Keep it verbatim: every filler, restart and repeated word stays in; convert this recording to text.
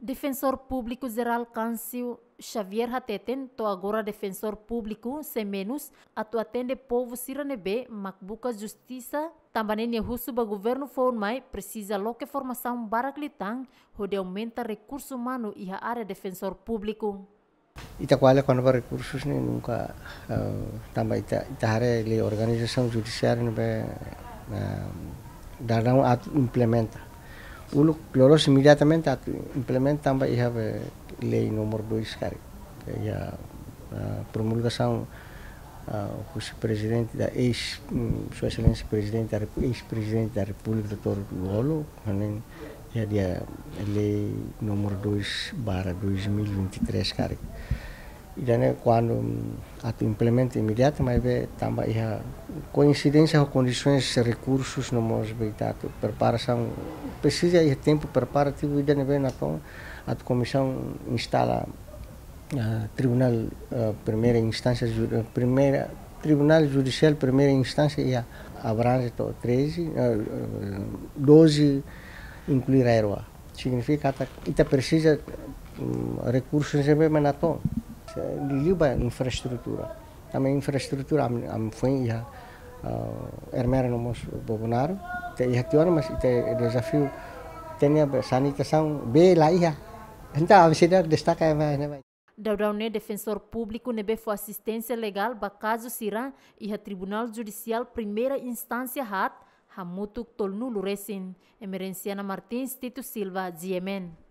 Defensór Públiku Jerál Câncio Xavier hateten, to'o agora Defensór Públiku sei menus atu atende povu sira ne'ebé mak buka justisa, tanba ne'e nia husu ba governu foun mai presiza loke formasaun barak liután hodi aumenta rekursu umanu iha área Defensór Públiku. Ita ko'alia kona-ba rekursus ne'e nunka, eh, tanba ita, ita haree lei organizasaun judisiária ne'ebé, eh, daudaun atu implementa. Uluk loloos imediatamente atu implementa tanba iha be lei númeru dois karik. Iha, eh, promulgasaun, eh, husi prezidente da eis, mm, Sua Exelénsia Prezidente da Repu-, eis-Prezidente da Repúblika, doutór Lú-Olo, hanesan iha dia lei númeru dois barra dois mil e vinte e três karik. Ida-ne'e kuandu, mm, atu implementa imediatu, maibé tanba iha koinsidénsia ho kondisoens, rekursus no mós be ita atu preparasaun, presiza iha tempu preparativu ida ne'ebé natoon atu komisaun instala, ah, tribunál, ah, primeira instánsia, ju-, eh, primeira, Tribunál Judisiál Primeira Instánsia iha abrange to'o treze, eh, eh, doze, inklui RAEOA. Signifika katak ita presiza, mm, rekursus ne'ebé mak natoon. Liuliu ba infraestrutura. Tanba infraestrutura ami, ami foin iha, eh, Ermera no mós Bobonaro. Ita iha tiha ona, mas ita dezafiu ita-nia sanitasaun bee la iha. Entaun ami seidauk destaka ema ne'ebá. Daudaun ne'e Defensór Públiku ne'ebé fó asisténsia legál ba kazu sira iha Tribunál Judisiál Primeira Instánsia haat hamutuk tolunulu resin. Emerenciana Martins, Tito Silva, G M N.